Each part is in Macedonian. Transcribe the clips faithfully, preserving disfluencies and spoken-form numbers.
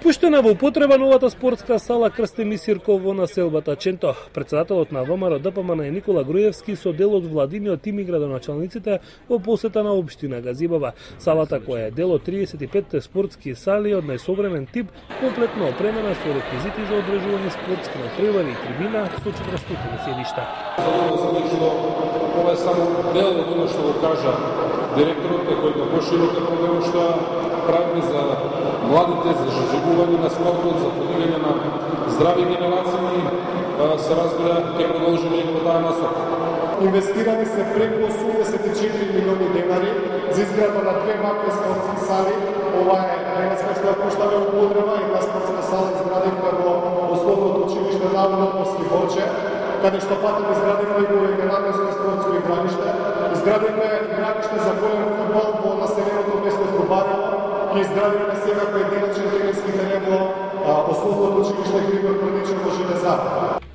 Пуштена во употреба новата спортска сала Крсте Мисирков во населбата Ченто. Председателот на ВМРО Д П М Н Никола Груевски со дел од владиниот тим и градоначалниците во посета на општина Газибава. Салата, која е дел од триесет и пет спортски сали од најсовремен тип, комплетно опремена со реквизити за одржување спортски натпревари и трибина со четиристотини седишта. Ова е само дел од оно што го кажа директорот, кој е поширока програма што правиме за младите, за заживување на спортот, за подигање на здрави генерации, се разбира, ќе продолжиме и во таа насока. Инвестирани се преку осумдесет и четири милиони денари за изградба на две вакви спортски сали. Ова е денеска што ја пуштаме во употреба, една спортска сала изградивме во основното училиште Наводот Морски Борче, каде што патем изградивме и го единадесето спортско игралиште. Изградивме игралиште за голем фудбал во населеното место Трубарево. Ги изградивме сега поединечен тренерски терен во основното училиште Григор Прдичев во Железар.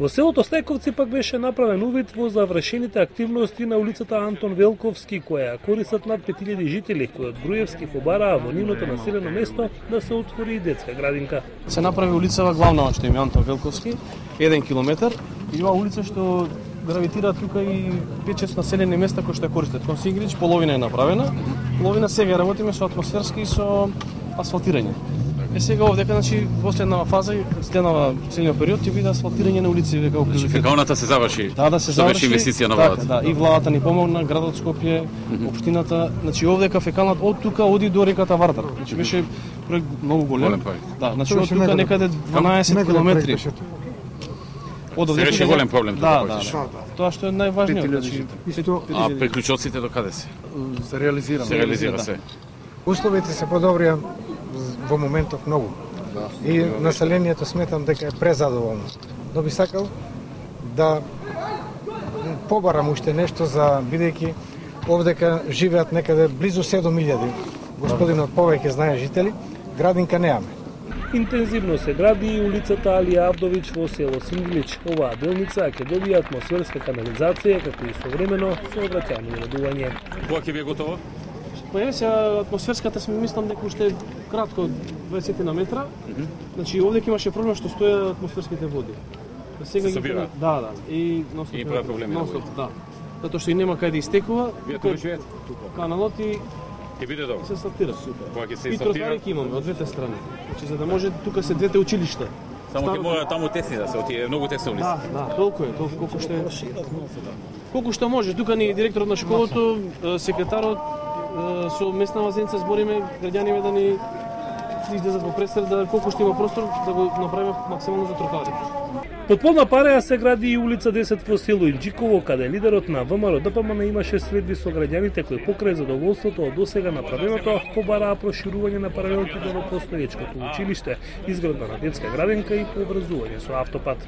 Во селото Стајковци пак беше направен увид во завршените активности на улицата Антон Велковски, која користат над пет илјади жители, кои од Груевски побараа во нивното населено место да се отвори и детска градинка. Се направи улицава главна, што е Антон Велковски, еден километар, и ова улица што гравитира тука и пет-шест населени места кои што ја користат. Кон Сингрич половина е направена, половина сега работиме со атмосферски и со асфалтирање. Е сега овдека, значи, последнава фаза, следнава целиот период ќе биде асфалтирање на улици дека во Значи фекалната се заврши. Да, да се заврши инвестиција на владата. Да, и владата ни помогна, градот Скопје, општината, значи овдека фекалната од тука оди до реката Вардар. Значи беше проект многу голем. Голем проект. Да, значи од тука некаде дванаесет километри. Од овде беше голем проблем да, да, да. Тоа што е најважниот, значи а приклучоците до каде се? Се реализира. Се реализира се. Условите се подобрија во моментов многу. И населението сметам дека е презадоволно. Но би сакал да побарам уште нешто за бидејќи овдека живеат некаде близу седум илјади. Господинот повеќе знае жители, градинка неаме. Интензивно се гради и улицата Алија Авдович во село Сингилич. Оваа делница ќе добие атмосферска канализација, како и современо сообраќајно уредување. Кога ќе биде готово? Па е, сега атмосферската сме мислам дека уште кратко дваесет на метра. Mm -hmm. Значи овде имаше проблем што стоја атмосферските води. Сега се собира? Да, да. И носот. И прави проблеми. Носот, да. Затоа што и нема каде да истекува. Вие тука живеете? Каналот и ќе биде добро. Се сортира. Супер. Кога ќе се и сортира? И тротари имаме од двете страни. Значи за да може тука се двете училишта. Само ќе мора таму тесни да се отиде, многу тесна улица. Да, да, толку е, толку колку што е. Колку што може. Тука ни директорот на школото, секретарот со местна вазенца збориме граѓаните да ни излезат во пресред, да колку што има простор да го направиме максимално за тротоарите. Под полна пареја се гради и улица десет во село Инџиково, каде лидерот на ВМРО Д П М Н имаше средби со граѓаните кои покрај задоволството од досега направеното побараа проширување на паралелките во постоечкото училиште, изградба на детска градинка и пообразување со автопат.